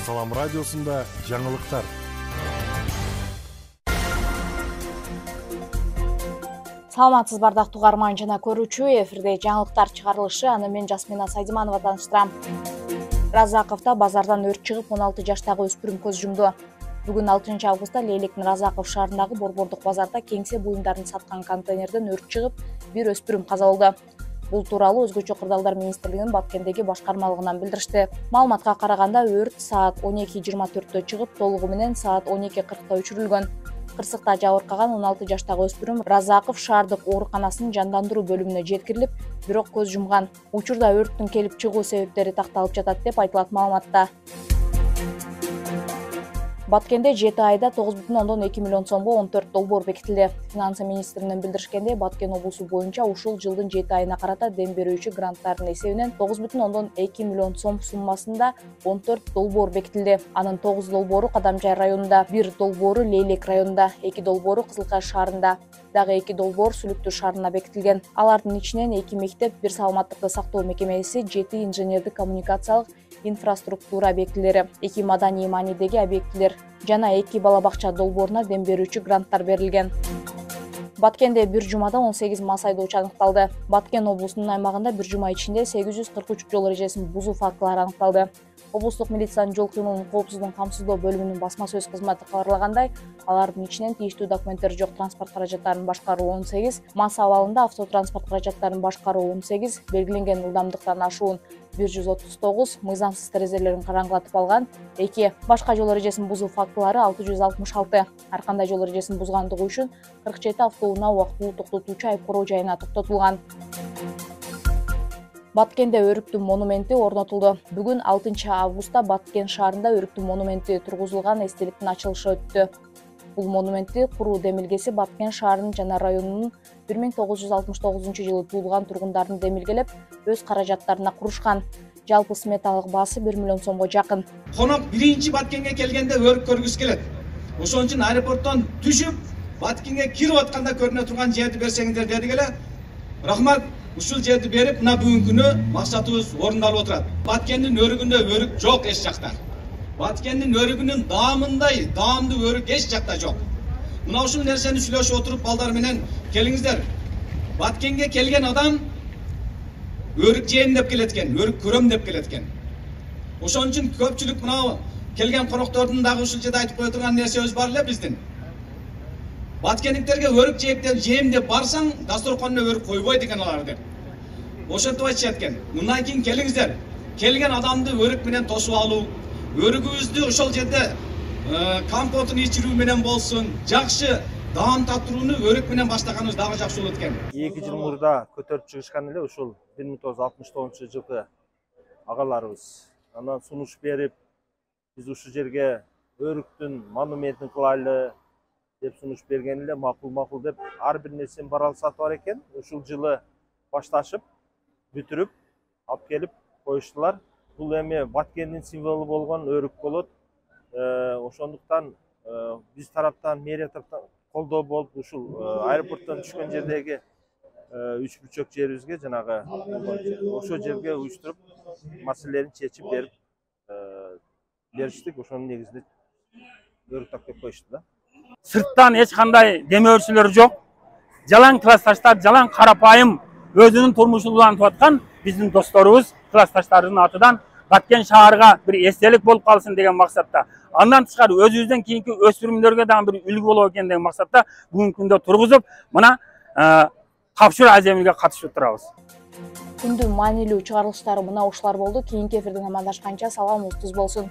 Салам радиосунда жаңылыктар. Саламатсыз бардактуу угарман жана көрүүчү, эфирде жаңылыктар чыгарылышы, аны мен Жасмина Сайдиманова тааныштырам. Разаковдо базардан өрт чыгып 16 жаштагы өспүрүм көз жумду. Бүгүн 6 августта Лейлектин Разаков шаарындагы Борбордук базарда кеңсе буюмдарын саткан контейнерден өрт чыгып, бир өспүрүм каза болду. Бул тууралуу Өзгөчө кырдаалдар министрлигинин Баткендеги башкармалыгынан билдиришти. Маалыматка караганда өрт саат 12:24 чыгып, толугу менен саат 12:40 өчүрүлгөн. Кырсыкта жабыркаган 16 жаштагы өспүрүм Разаков шаардык ооруканасынын жандандыруу бөлүмүнө жеткирилип, бирок көз жумган. Учурда өрттүн келип чыгуу себептери такталып жатат деп айтылат маалыматта. Баткенде 7 айда 9,2 миллион сомго 14 долбоор бекитилди. Финансы министринин билдиришкендей, Баткен облусу боюнча ушул жылдын 7 айына карата дем берүүчү гранттардын эсебинен 9,2 миллион сом суммасында 14 долбоор бекитилди. Анын 9 долбоору Кадамжай районунда, 1 долбоору Лейлек районунда, 2 долбоору Кызылкаш шаарында, дагы 2 долбоор Сүлүктүү шаарына бекитилген. Алардын ичинен 2 мектеп, 1 саламаттыкты сактоо мекемеси, 7 инженердик коммуникациялык инфраструктура объектилери, 2 маданий маанидеги объектилер жана 2 бала бакча долбооруна дем берүүчү гранттар берилген. Баткенде бир жумада 18 мас айдоочу аныкталды. Баткен облусунун аймагында бир жума ичинде 843 жол эрежесин бузуу фактылары аныкталды. Облустук милициянын жол кыймылын коопсуздугун камсыздоо бөлүмүнүн басма сөз кызматы кабарлагандай, алардын ичинен тийиштүү документтери жок транспорт каражаттарын башкаруу 18, мас абалында автотранспорт каражаттарын башкаруу 18, белгиленген ылдамдыктан ашуун 139, мыйзамсыз терезелерин караңгылатып алган 2, башка жол эрежесин бузуу фактылары 666. Ар кандай жол эрежесин бузгандыгы үчүн 47 автоунаа убактылуу токтотуучу айыпкороо жайына токтотулган. Баткенде өрүктүн монументи орнотулду. Бүгүн 6 августта Баткен шаарында өрүктүн монументи тургузулган эстеликтин ачылышы өттү. Бул монументти куруу демилгеси Баткен шаарынын жана районунун 1969 жылы туулган тургундарын демилгелеп, өз каражаттарына курушкан. Жалпы сметалык баасы 1 миллион сомго жакын. Конок биринчи Баткенге келгенде өрүк көргүсү келет. Ошон үчүн аэропорттон түшүп, Баткенге кирип атканда көрүнө турган жерди берсеңиздер дедик эле. Рахмат. Ушул жерди берип, мына бүгүнкү күнү максатыбыз орундалып отурат. Баткендин өрүгүндө өрүк жок эч жакта. Баткендин өрүгүнүн даамындай даамдуу өрүк эч жакта жок. Мына ушул нерсени сүйлөшүп отуруп, балдар менен келиңиздер. Баткенге келген адам өрүк жейм деп келет экен, өрүк көрөм деп келет экен. Ошон үчүн көпчүлүк мына келген коноктордун дагы ушул жерде айтып кое турган нерсебиз бар эле биздин. Баткендиктерге өрүк жейм деп барсаң, дасторконуна өрүк койбойт экен алар деп. Ошентип айтышат экен. Мындан кийин келиңиздер. Келген адамды өрүк менен тосуп алуу, өрүгүбүздү ошол жерде компотун ичирүү менен болсун, жакшы даам татырууну өрүк менен баштаганыбыз дагы жакшы болот экен. 2 жыл мурда көтөрүп чыгышкан эле ушул 1969 жылкы агаларыбыз. Андан сунуш берип, биз ушул жерге өрүктүн монументин кылайлы деп сунуш берген эле, макул деп ар бир нерсени баралсатып бар экен. Ушул жылы башташып, бүтүрүп, алып келип коюштулар. Бул эми Баткендин символу болгон өрүк болот. Ошондуктан биз тараптан, мэрия тараптан колдоо болуп, ушул аэропорттон түшкөн жердеги 3 бүрчөк жерибизге жанагы ошол жерге уюштуруп, маселелерин чечип берип бериштик. Ошонун негизинде өрүк тактап коюшту да. Сырттан эч кандай демөөрчүлөр жок. Жалаң классташтар, жалаң карапайым өзүнүн турмушун улантып аткан биздин досторубуз, классташтардын атынан Баткен шаарга бир эстелик болуп калсын деген максатта. Андан тышкары өзүбүздөн кийинки өспүрүмдөргө дагы бир үлгү болот экен деген максатта бүгүнкү күндө тургузуп, мына тапшыруу аземиге катышып турабыз. Күндүн маанилүү чыгарылыштары мына ушулар болду. Кийинки эфирден амандашканча саламыбыз туз болсун.